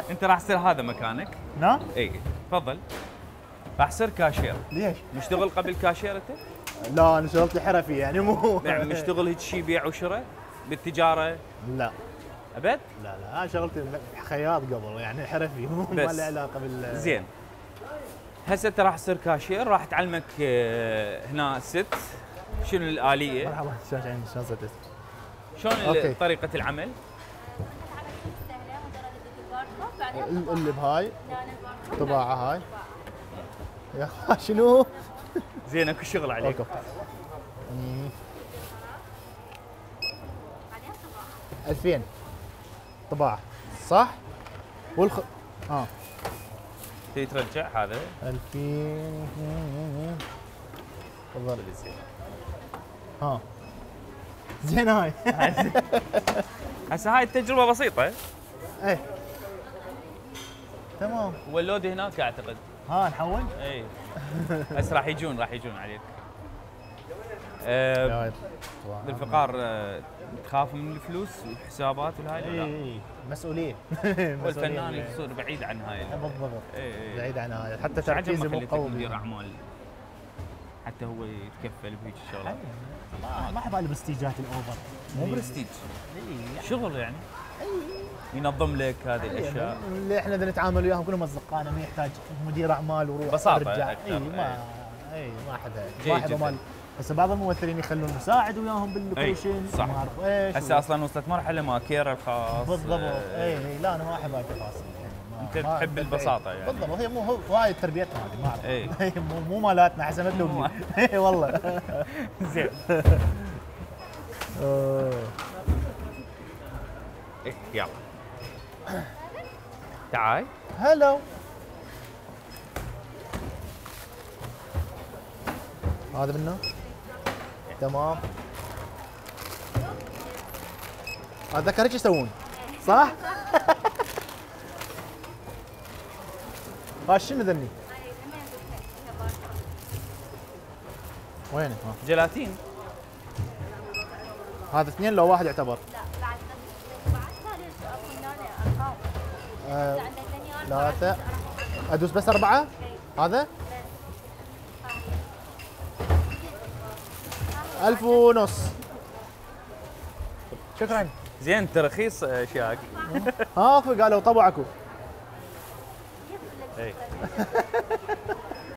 انت راح تصير هذا مكانك؟ نعم؟ اي تفضل. راح تصير كاشير. ليش؟ مشتغل قبل كاشير انت؟ لا انا شغلتي حرفي يعني مو يعني مشتغل هيك شيء بيع وشراء بالتجاره؟ لا ابد؟ لا انا شغلتي خياط قبل يعني حرفي مو ما له علاقه بال زين. هسه انت راح تصير كاشير، راح تعلمك هنا ست شنو الآلية؟ مرحبا شلون صرت؟ شلون طريقة العمل؟ اللي بهاي طباعة هاي يا شنو؟ زين اكو شغل عليك. 2000 طباعة صح؟ تبي ترجع هذا؟ 2000 تفضل زين. زين هاي هسه هاي التجربة بسيطة. ايه تمام. واللود هناك اعتقد. نحول؟ اي هسه راح يجون عليك. بالفقار تخاف من الفلوس والحسابات والهاي؟ اي مسؤولية والفنان يصير بعيد عن هاي. بالضبط. بعيد عن هاي حتى تركيزي مو قوي. مدير اعمال حتى هو يتكفل بهيك الشغلات. ما احب البرستيجات الاوفر. مو برستيج، شغل يعني. ينظم لك هذه الاشياء اللي احنا نتعامل وياهم كلهم اصدقائنا، ما يحتاج مدير اعمال وروح بساطة ورجع. اكثر. ما احبها مال. هسه بعض الممثلين يخلون مساعد وياهم باللوكيشن صح. ما اعرف ايش. هسه اصلا وصلت مرحله ما كير الخاص. بالضبط. لا انا ما احب هاي التفاصيل يعني. انت تحب البساطه يعني. بالضبط. هي مو هاي تربيتنا هذه ما اعرف. مو مالاتنا حسنت له. اي والله. زين. يلا تعال. هلو. هذا منه تمام. اتذكر ايش يسوون صح؟ شنو ذني؟ وينه؟ جيلاتين. هذا اثنين لو واحد يعتبر؟ ثلاثة. ادوس بس 4 هذا؟ 1500. شكرا. زين ترخيص اشياك. اكو قالوا طبعكم. اي